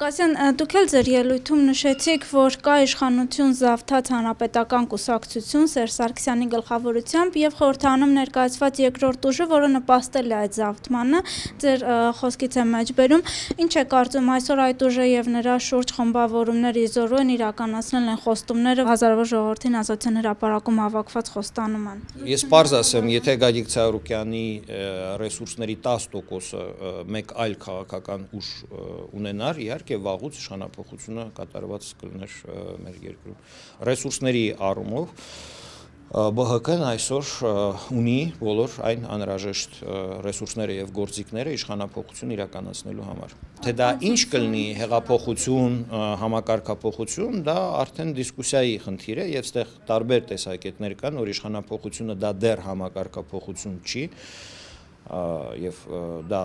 Ղուկասյան, դուք էլ ձեր ելույթում նշեցիք, որ կա իշխանություն զավթած հանրապետական կուսակցություն Սերժ Սարգսյանի գլխավորությամբ եւ խորհրդանում ներկայացված երկրորդ ուժը, որը նպաստել է այդ զավթմանը, ձեր խոսքից եմ մեջբերում, ինչ է կարծում այսօր այդ ուժը եւ նրա շուրջ խմբավորումներ իզորու են իրականացնել են խոստումները հազարավոր ժողովրդին ազատության հրապարակում հավաքված խոստանում են։ Ես պարզ ասեմ, եթե Գագիկ Ծառուկյանի ռեսուրսների 10%-ը մեկ այլ քաղաքական ուժ ունենար, իհարկե վաղուց իշխանափոխությունը կատարված կլիներ մեր երկրում։ Ռեսուրսների առումով ԲՀԿ-ն այսօր ունի բոլոր այն անհրաժեշտ ռեսուրսները եւ գործիքները իշխանափոխություն իրականացնելու համար։ Թե դա ինչ կլինի, հեղափոխություն, համակարգափոխություն, դա արդեն դիսկուսիայի խնդիր է եւ այստեղ տարբեր տեսակետներ կան, որ իշխանափոխությունը դա դեռ համակարգափոխություն չի եւ դա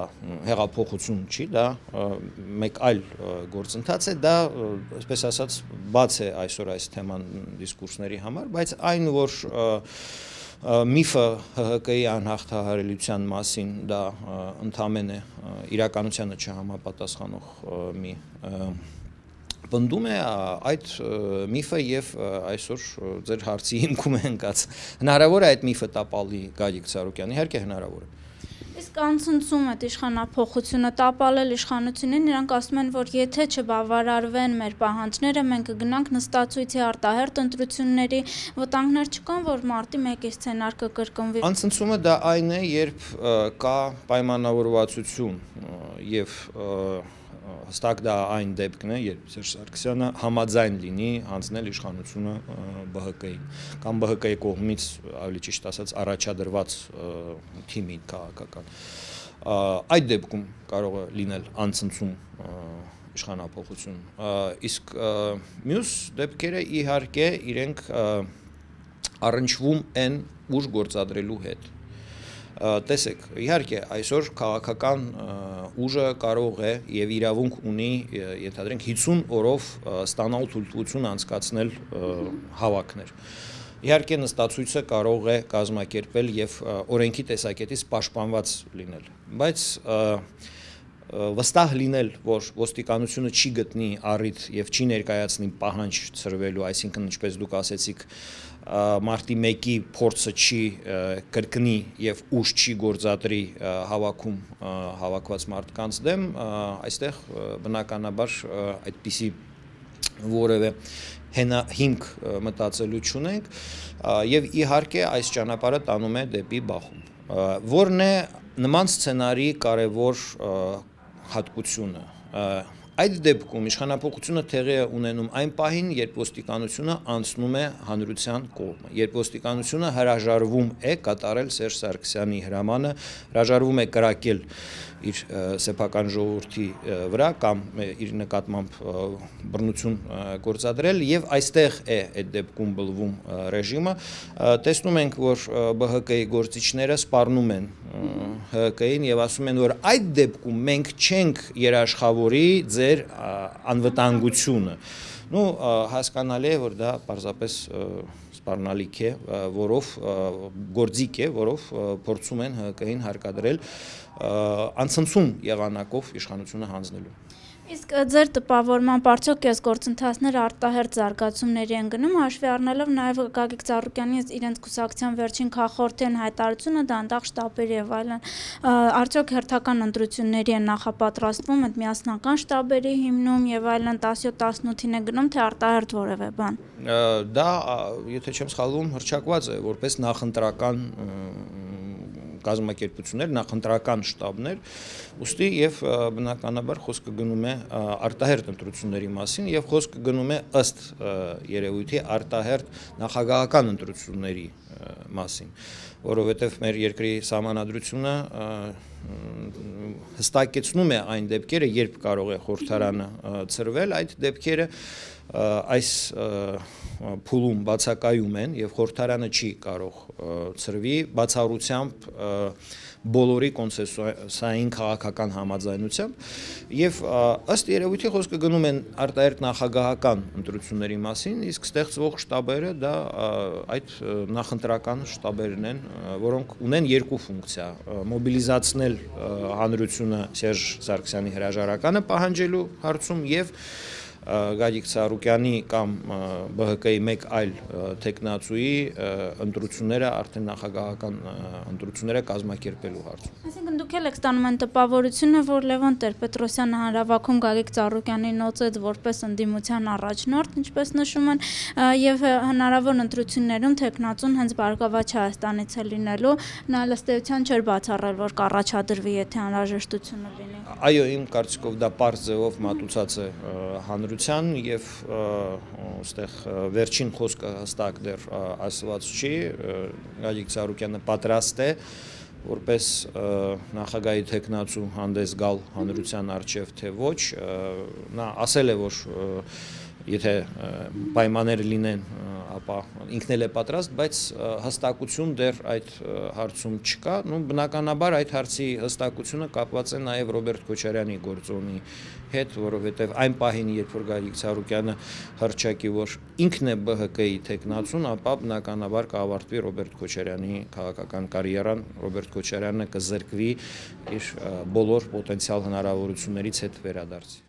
հեղափոխություն չի, դա մեկ այլ գործընթաց է, դա, այսպես ասած, բաց է այսօր այս թեման դիսկուրսների համար, բայց այն, որ միֆը ՀՀԿ-ի անհաղթահարելիության մասին դա ընդամենը իրականությանը չհամապատասխանող մի պնդում է, այդ միֆը եւ այսօր ձեր հարցի հիմքում է ընկած։ Հնարավոր է այդ միֆը տապալի Գագիկ Ծառուկյանի, իհարկե հնարավոր է։ Իսկ անցնցում այդ իշխանափոխությունը տապալել իշխանությունին, նրանք ասում են, որ եթե չբավարարվեն մեր պահանջները, մենք կգնանք նստածույցի արտահերթ ընտրությունների, վտանգներ չկան, որ մարտի 1-ի սցենար կկրկնվի։ Անցնցումը դա այն է, երբ կա պայմանավորվածություն եւ հստակ դա այն դեպքն է, երբ Սերժ Սարգսյանը համաձայն լինի հանձնել իշխանությունը ԲՀԿ-ին կամ ԲՀԿ-ի կողմից, ավելի ճիշտ ասած, առաջադրված թիմին քաղաքական։ Այդ դեպքում կարող է լինել անցնցում իշխանափոխություն։ Իսկ մյուս դեպքերը իհարկե իրենք առնչվում են ուժ գործադրելու հետ։ Տեսեք, իհարկե այսօր քաղաքական ուժը կարող է եւ իրավունք ունի, ենթադրենք 50 օրով ստանալ թույլտվություն անցկացնել հավաքներ։ Իհարկե նստածույցը կարող է կազմակերպել եւ օրենքի տեսակետից պաշտպանված լինել, բայց վստահ լինել, որ ոստիկանությունը չի գտնի առիթ եւ չի ներկայացնի պահանջ ծրվելու, այսինքն ինչպես դուք ասեցիք, մարտի 1-ի փորձը չի կրկնի եւ ուժ չի գործադրի հավաքում հավաքված մարդկանց դեմ, այստեղ բնականաբար այդպիսի որևէ հիմք մտածելու չունենք եւ իհարկե այս ճանապարհը տանում է դեպի բախում, որն է նման սցենարի կարևոր հատկությունը։ Այդ դեպքում իշխանափոխությունը տեղի է ունենում այն պահին, երբ ոստիկանությունը անցնում է հանրության կողմը, երբ ոստիկանությունը հրաժարվում է կատարել Սերժ Սարգսյանի հրամանը, հրաժարվում է կրակել իր սեփական ժողովրդի վրա կամ իր նկատմամբ բռնություն գործադրել եւ այստեղ է այդ դեպքում բլվում ռեժիմը։ Տեսնում ենք, որ ԲՀԿ-ի գործիչները սպառնում են ՀԿ-ին եւ ասում են, որ այդ դեպքում մենք չենք երաշխավորի ձեր անվտանգությունը։ Հասկանալի է, որ դա պարզապես սպառնալիք է, որով գործիք է, որով փորձում են ՀԿ-ին հարկադրել անցնցում եղանակով իշխանությունը հանձնելու։ Իսկ ձեր տպավորմամբ արդյոք այս գործընթացները արտահերթ զարգացումների են գնում, հաշվի առնելով նաև Գագիկ Ծառուկյանի իրենց կուսակցության վերջին քաղաքորդեն հայտարարությունը դանդաղ շտաբերի եւ այլն, արդյոք հերթական ընտրությունների են նախապատրաստվում այդ միասնական շտաբերի հիմնում եւ այլն 17-18-ին է գնում, թե արտահերթ որևէ բան։ Դա, եթե չեմ սխալվում, հռչակված է որպես նախընտրական կազմակերպություններ, նախընտրական շտաբներ, ուստի եւ բնականաբար խոսքը գնում է արտահերթ ընտրությունների մասին եւ խոսքը գնում է ըստ երևույթի արտահերթ նախագահական ընտրությունների մասին, որովհետեւ մեր երկրի սահմանադրությունը հստակեցնում է այն դեպքերը, երբ կարող է խորհրդարանը ծրվել, այդ դեպքերը այս փուլում բացակայում են եւ խորհրդարանը չի կարող ծրվի բացառությամբ բոլորի կոնսենսուսային քաղաքական համաձայնությամբ եւ ըստ երևույթի խոսքը գնում են արտահերթ նախագահական ընտրությունների մասին, իսկ ստեղծվող շտաբերը դա այդ նախընտրական շտաբերն են, որոնք ունեն երկու ֆունկցիա՝ մոբիլիզացնել հանրությունը Սերժ Սարգսյանի հրաժարականը պահանջելու հարցում եւ Գագիկ Ծառուկյանի կամ ԲՀԿ-ի մեկ այլ տեխնացուի ընտրությունները արդեն նախագահական ընտրությունները կազմակերպելու հարցում։ Այսինքն դուք եք ստանում են տպավորությունը, որ Լևոն Տեր-Պետրոսյանը հանրավաքում Գագիկ Ծառուկյանին նոծեց որպես ընդդիմության առաջնորդ, ինչպես նշում են, եւ հնարավոր ընտրություններում տեխնացուն հենց Բարգավաճ Հայաստանից է լինելու, նա ըստ էության չէր բացառել, որ կառաջադրվի, եթե անհրաժեշտությունը լինի։ Այո, իմ կարծիքով դա պարզ ձևով մատուցած է հանրության եւ այստեղ վերջին խոսքը հստակ դեռ ասված չի, Գագիկ Ծառուկյանը պատրաստ է որպես նախագահի տեխնացու հանդես գալ հանրության առջև թե ոչ, նա ասել է, որ եթե պայմաններ լինեն, ապա ինքն էլ է պատրաստ, բայց հստակություն դեռ այդ հարցում չկա, բնականաբար այդ հարցի հստակությունը կապված է նաև Ռոբերտ Քոչարյանի գործոնի հետ, որովհետև այն պահին, երբ որ Գագիկ Ծառուկյանը հռչակի, որ ինքն է ԲՀԿ-ի տեխնացուն, ապա բնականաբար կավարտվի Ռոբերտ Քոչարյանի քաղաքական կարիերան, Ռոբերտ Քոչարյանը կզրկվի իր բոլոր պոտենցիալ հնարավորություններից հետ վերադարձի։